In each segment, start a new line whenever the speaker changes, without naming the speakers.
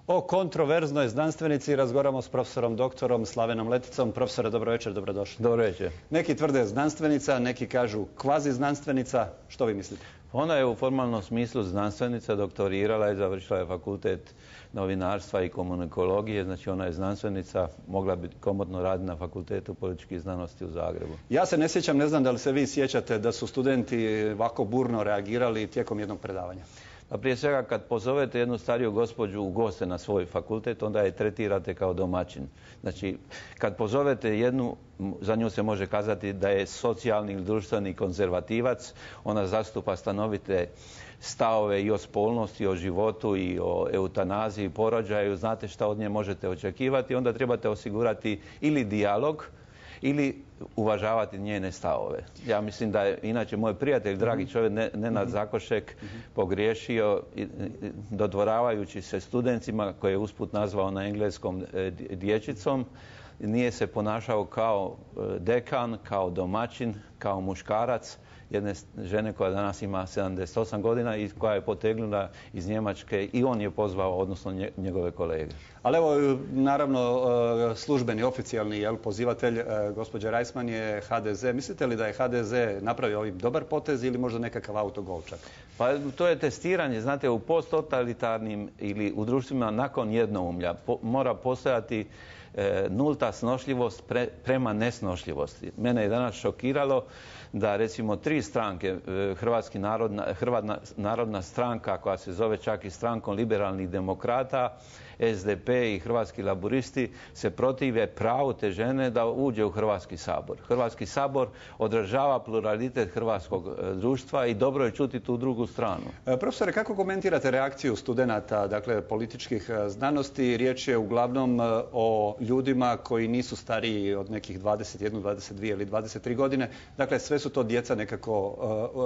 O kontroverznoj znanstvenici razgovaramo s profesorom doktorom Slavenom Leticom. Profesore, dobro večer, dobrodošli.
Dobro večer.
Neki tvrde znanstvenica, neki kažu kvazi znanstvenica. Što vi mislite?
Ona je u formalnom smislu znanstvenica, doktorirala je, završila je fakultet novinarstva i komunikologije, znači ona je znanstvenica, mogla bi komotno raditi na fakultetu političkih znanosti u Zagrebu.
Ja se ne sjećam, ne znam da li se vi sjećate da su studenti ovako burno reagirali tijekom jednog predavanja.
A prije svega kad pozovete jednu stariju gospođu u goste na svoj fakultet, onda je tretirate kao domaćin. Znači, kad pozovete jednu, za nju se može kazati da je socijalni ili društveni konzervativac, ona zastupa stanovite stavove i o spolnosti, i o životu, i o eutanaziji, porođaju, znate šta od nje možete očekivati, onda trebate osigurati ili dijalog, ili uvažavati njene stavove. Ja mislim da je, inače, moj prijatelj, dragi čovjek, Nenad Zakošek, pogriješio dodvoravajući se studentima, koje je usput nazvao na engleskom dječicom. Nije se ponašao kao dekan, kao domaćin, kao muškarac jedne žene koja danas ima 78 godina i koja je potegnula iz Njemačke i on je pozvao, odnosno njegove kolege.
Ali evo, naravno, službeni, oficijalni pozivatelj, gospođa Reisman je HDZ. Mislite li da je HDZ napravio ovim dobar potez ili možda nekakav autogol čak?
Pa to je testiranje. Znate, u posttotalitarnim ili u društvima nakon jednoumlja mora postojati nulta snošljivost prema nesnošljivosti. Mene je danas šokiralo da recimo 3 stranke, Narodna stranka koja se zove čak i strankom liberalnih demokrata, SDP i Hrvatski laburisti se protive pravu te žene da uđe u Hrvatski sabor. Hrvatski sabor odražava pluralitet hrvatskog društva i dobro je čuti tu drugu stranu.
Profesore, kako komentirate reakciju studenata, dakle političkih znanosti? Riječ je uglavnom o ljudima koji nisu stariji od nekih 21, 22 ili 23 godine. Dakle, sve su to djeca nekako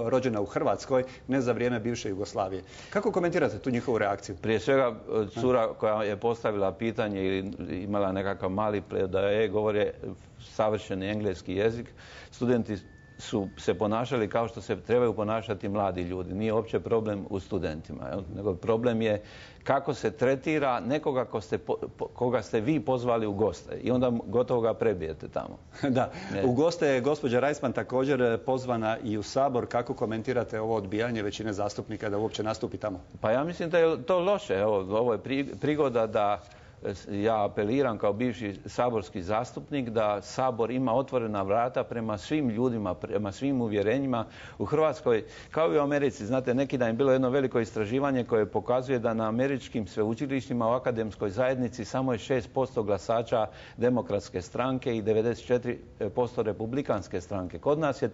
rođena u Hrvatskoj, ne za vrijeme bivše Jugoslavije. Kako komentirate tu njihovu reakciju?
Prije svega, cura koja je postavila pitanje ili imala nekakav mali predaje, govore savršeni engleski jezik. Studenti su se ponašali kao što se trebaju ponašati mladi ljudi. Nije uopće problem u studentima, nego problem je kako se tretira nekoga koga ste vi pozvali u goste i onda gotovo ga prebijete tamo.
Da, u goste je gospođa Reisman također pozvana i u Sabor. Kako komentirate ovo odbijanje većine zastupnika da uopće nastupi tamo?
Pa ja mislim da je to loše. Evo, ovo je prigoda da ja apeliram kao bivši saborski zastupnik da Sabor ima otvorena vrata prema svim ljudima, prema svim uvjerenjima u Hrvatskoj, kao i u Americi. Znate, neki dan je bilo jedno veliko istraživanje koje pokazuje da na američkim sveučilištima u akademskoj zajednici samo je 6% glasača Demokratske stranke i 94% Republikanske stranke. Kod nas je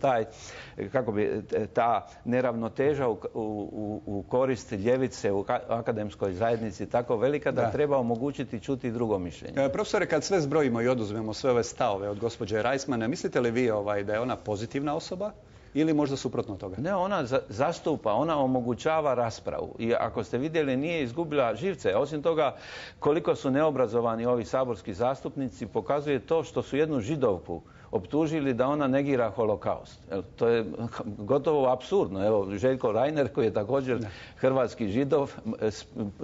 ta neravnoteža u korist ljevice u akademskoj zajednici tako velika da treba omogućiti čuti drugo mišljenje.
Profesore, kad sve zbrojimo i oduzmemo sve ove stavove od gospođe Reisman, mislite li vi da je ona pozitivna osoba ili možda suprotno toga?
Ne, ona zastupa, ona omogućava raspravu i ako ste vidjeli nije izgubila živce. Osim toga, koliko su neobrazovani ovi saborski zastupnici pokazuje to što su jednu Židovku optužili da ona negira holokaust. To je gotovo apsurdno. Evo, Željko Reiner, koji je također hrvatski Židov,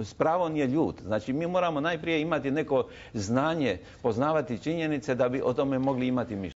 s pravom je ljut. Znači, mi moramo najprije imati neko znanje, poznavati činjenice da bi o tome mogli imati mišljenje.